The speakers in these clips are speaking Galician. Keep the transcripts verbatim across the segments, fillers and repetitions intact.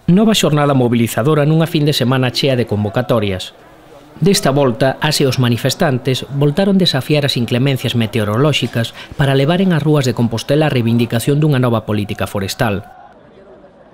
Nova xornada mobilizadora nunha fin de semana chea de convocatorias. Desta volta, as e os manifestantes voltaron desafiar as inclemencias meteorolóxicas para levaren ás rúas de Compostela a reivindicación dunha nova política forestal.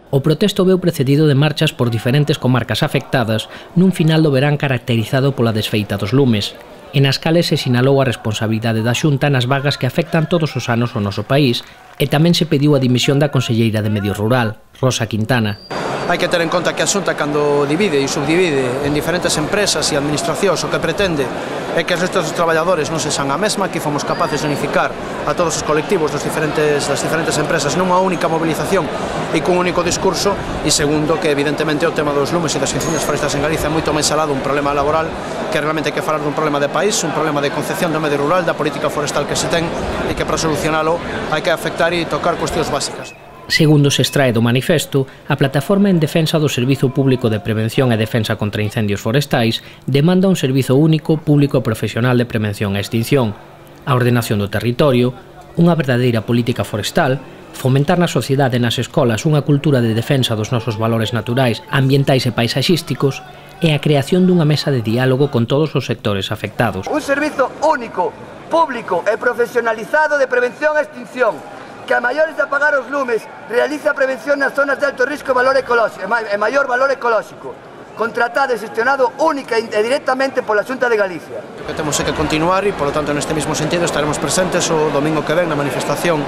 O protesto veu precedido de marchas por diferentes comarcas afectadas nun final do verán caracterizado pola desfeita dos lumes, e nas cales se sinalou a responsabilidade da Xunta nas vagas que afectan todos os anos ao noso país, e tamén se pediu a dimisión da conselleira de Medio Rural, Rosa Quintana. Hai que ter en conta que a Xunta, cando divide e subdivide en diferentes empresas e administracións, o que pretende é que os restos dos traballadores non se san a mesma, que fomos capaces de unificar a todos os colectivos dos diferentes, das diferentes empresas nunha única movilización e cun único discurso, e segundo, que evidentemente o tema dos lumes e das incendios forestais en Galicia é moito máis alado un problema laboral, que realmente hai que falar dun problema de país, un problema de concepción do medio rural, da política forestal que se ten, e que para solucionalo hai que afectar e tocar cuestións básicas. Segundo se extrae do manifesto, a Plataforma en Defensa do Servizo Público de Prevención e Defensa contra Incendios Forestais demanda un servizo único, público e profesional de prevención e extinción, a ordenación do territorio, unha verdadeira política forestal, fomentar na sociedade e nas escolas unha cultura de defensa dos nosos valores naturais, ambientais e paisaxísticos e a creación dunha mesa de diálogo con todos os sectores afectados. Un servizo único, público e profesionalizado de prevención e extinción, que a maiores de apagar os lumes realiza prevención nas zonas de alto risco e valor ecolóxico, e maior valor ecolóxico, contratado e gestionado única e directamente pola Xunta de Galicia. O que temos é que continuar e, polo tanto, neste mesmo sentido estaremos presentes o domingo que ven na manifestación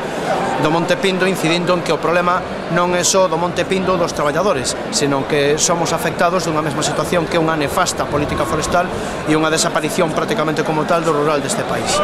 do Monte Pindo, incidindo en que o problema non é só do Monte Pindo dos traballadores, senón que somos afectados dunha mesma situación que é unha nefasta política forestal e unha desaparición prácticamente como tal do rural deste país.